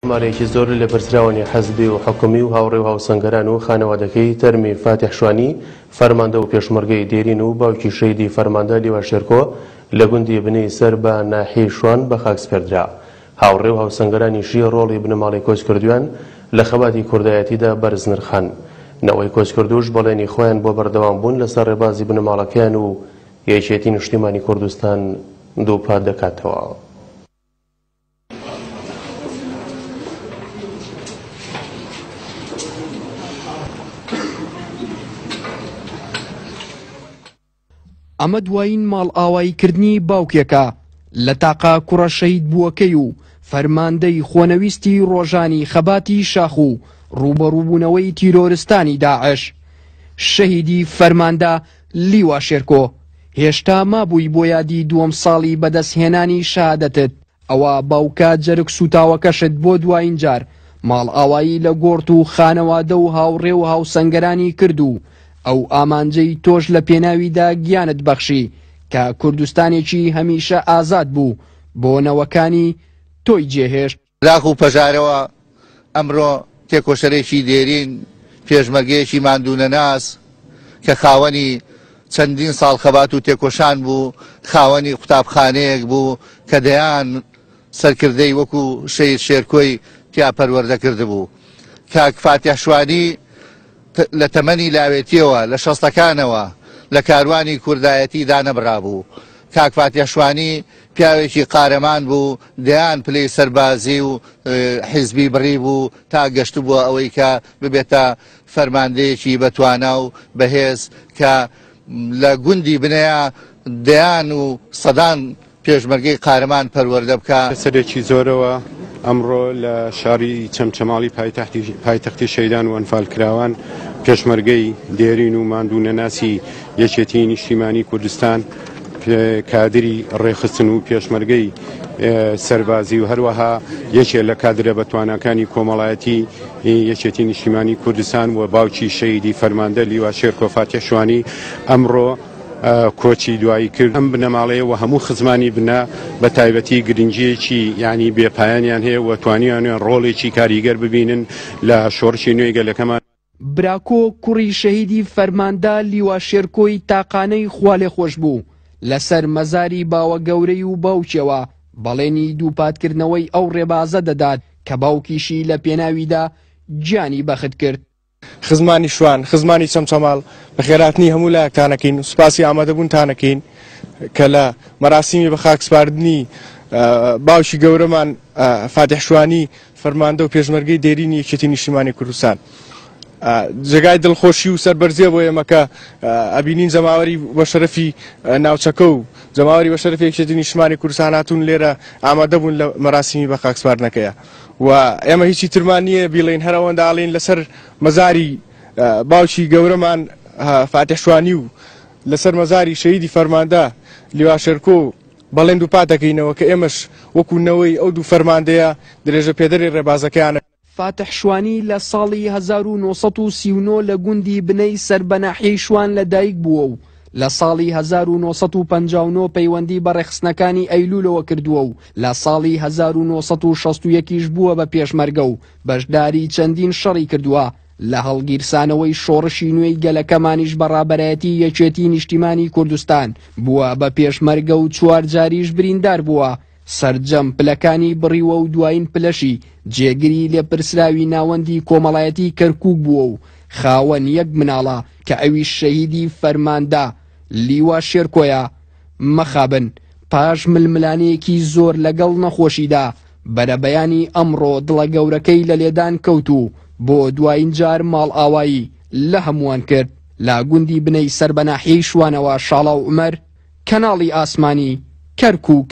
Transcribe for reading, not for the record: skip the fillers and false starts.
ژمارەیەکی زۆر لە لێپرسراوانی حزبی و حکومی و هاوڕێ و هاوسەنگەران و خانەوادەکەی تەرمی فاتیح شوانی فەرماندە و پێشمەرگەی دێرین و باوکی شەهیدی فەرماندە لیوا شێرکۆ لە گوندی بنەی سەر بە ناحیەی شوان بە خاک سپێردرا. هاوڕێ و هاوسەنگەرانیشی ڕۆڵی بنەماڵەی کۆچکردوویان لە خەباتی کوردایەتیدا بەرز نرخان. نەوەی کۆچکردووش بەڵێنی خۆیان بۆ بەردەوامبوون لەسەر ڕێبازی بنەماڵەکەیان و یەکێتی نیشتیمانی کوردستان دووپات دەکاتەوە. ئەمە دوایین ماڵئاواییکردنی باوکێکە لە تاقە کوڕە شەهیدبووەکەی و فەرماندەی خۆنەویستی ڕۆژانی خەباتی شاخ و ڕووبەڕووبوونەوەی تیرۆرستانی داعش، شەهیدی فەرماندە لیوا شێرکۆ، هێشتا مابووی بۆ یادی دووەم ساڵی بەدەستهێنانی شەهادەتت، ئەوا باوکە جەرگ سووتاوەکەشت بۆ دوایین جار ماڵئاوایی لە گۆڕت و خانەوادە و هاوڕێ و هاوسەنگەرانی کرد و ئەو ئامانجەی تۆش لە پێناویدا گیانت بەخشی کە کوردستانێکی هەمیشە ئازاد بوو بۆ نەوەکانی تۆی جێهێشت. داخ و پەژارەوە ئەمرۆ تێکۆشەرێکی دێرین، پێشمەرگەیەکی ماندوونەناس کە خاوەنی چەندین ساڵ خەبات و تێکۆشان بوو، خاوەنی قوتابخانەیەک بوو کە دەیان سەرکردەی وەکو شەهید شێرکۆی تیا پەروەردە کردبوو. کاک فاتیح شوانی لە تەمەنی لاوێتیەوە لە شەستەکانەوە لە کاروانی کوردایەتی دانەبڕابوو. کاک فاتیح شوانی پیاوێکی قارەمان بوو، دەیان پلەی سەربازی و حیزبی بڕیبوو تا گەشتبووە ئەوەی کە ببێتە فەرماندەیەکی بەتوانا و بەهێز کە لە گوندی بنەیە دەیان و سەدان پێشمەرگەی قارەمان پەروەردە بکا. سەرێکی زۆرەوە ئەمڕۆ لە شاری چەمچەماڵی پایتەختی شەهیدان و ئەنفالکراوان پێشمەرگەی دێرین و ماندوو نەناسی یەکێتیی نیشتیمانی کوردستان کادری ڕێکخستن و پێشمەرگەی سەربازی و هەروەها یەکێ لە کادرە بەتواناکانی کۆمەڵایەتی یەکێتی نیشتیمانی کوردستان و باوکی شەهیدی فەرماندە لیوا شێرکۆ فاتیح شوانی ئەمڕۆ کۆچی دوایی کرد. ئەم بنەماڵەیە و هەموو خزمانی بنە بە تایبەتی گرنگییەکی یانی بێ پایانیان هەیە و توانیویانە ڕۆڵێکی کاریگەر ببینن لە شۆڕشی نوێی گەلەکەمان. براکۆ کوڕی شەهیدی فەرماندە لیوا شێرکۆی تاقانەی خوالێخۆشبوو لەسەر مەزاری باوەگەورەی و باوکیەوە بەڵێنی دووپاتکردنەوەی ئەو ڕێبازە دەدات کە باوکیشی لە پێناویدا گیانی بەخت کرد. خزمانی شوان، خزمانی چەمچەماڵ، بەخێرهاتنی هەموو لایەکتان ئەکەین و سوپاسی ئامادەبوونتان ئەکەین کە لە مەراسیمی بەخاکسپاردنی باوکی گەورەمان فاتیح شوانی فەرماندە و پێشمەرگەی دێرینی یەکێتی نیشتیمانی کوردستان جێگای دڵخۆشی و سەربەرزیە بۆ ئێمە کە ئەبینین جەماوەری بە شەرەفی ناوچەکە و جەماوەری بە شەرەفی یەکێتی نیشتمانی کوردستان هاتوون لێرە ئامادە بوون لە مەراسیمی بەخاکسپاردنەکەیە. و ئێمە هیچی ترمان نییە بیڵێین هەر ئەوەندە ئەڵێین لەسەر مەزاری باوکی گەورەمان فاتیح شوانی و لەسەر مەزاری شەهیدی فەرماندە لیوا شێرکۆ بەڵێن دووپات دەکەینەوە کە ئێمەش وەکو نەوەی ئەو دوو فەرماندەیە درێژە پێدەری ڕێبازەکەیانە. فاتح شوانی لە ساڵی 1939 لە گوندی بنەی سەر بە ناحیەی شوان لە دایک بووە و لە ساڵی 1959 پەیوەندی بە ڕێکخستنەکانی ئەیلوولەوە کردووە و لە ساڵی 1961 یش بووە بە پێشمەرگە و بەشداری چەندین شەڕی کردووە لە هەڵگیرسانەوەی شۆڕشی نوێی گەلەکەمانیش بە ڕابەرایەتی یەکێتی نیشتیمانی کوردستان بووە بە پێشمەرگە و چوار جاریش بریندار بووە سەرجەم پلەکانی بڕیوە و دوایین پلەشی جێگری لێپرسراوی ناوەندی کۆمەڵایەتی کەرکوک بووە و خاوەن یەک مناڵە کە ئەویش شەهیدی فەرماندە لیوا شێرکۆیە مەخابن پاش ململانێیەکی زۆر لەگەڵ نەخۆشیدا بەرەبەیانی ئەمڕۆ دڵە گەورەکەی لە لێدان کەوت و بۆ دوایین جار ماڵئاوایی لە هەمووان کرد لە گوندی بنەی سەر بە ناحیەی شوانەوە شاڵاو عومەر، کەناڵی ئاسمانی، کەرکوک.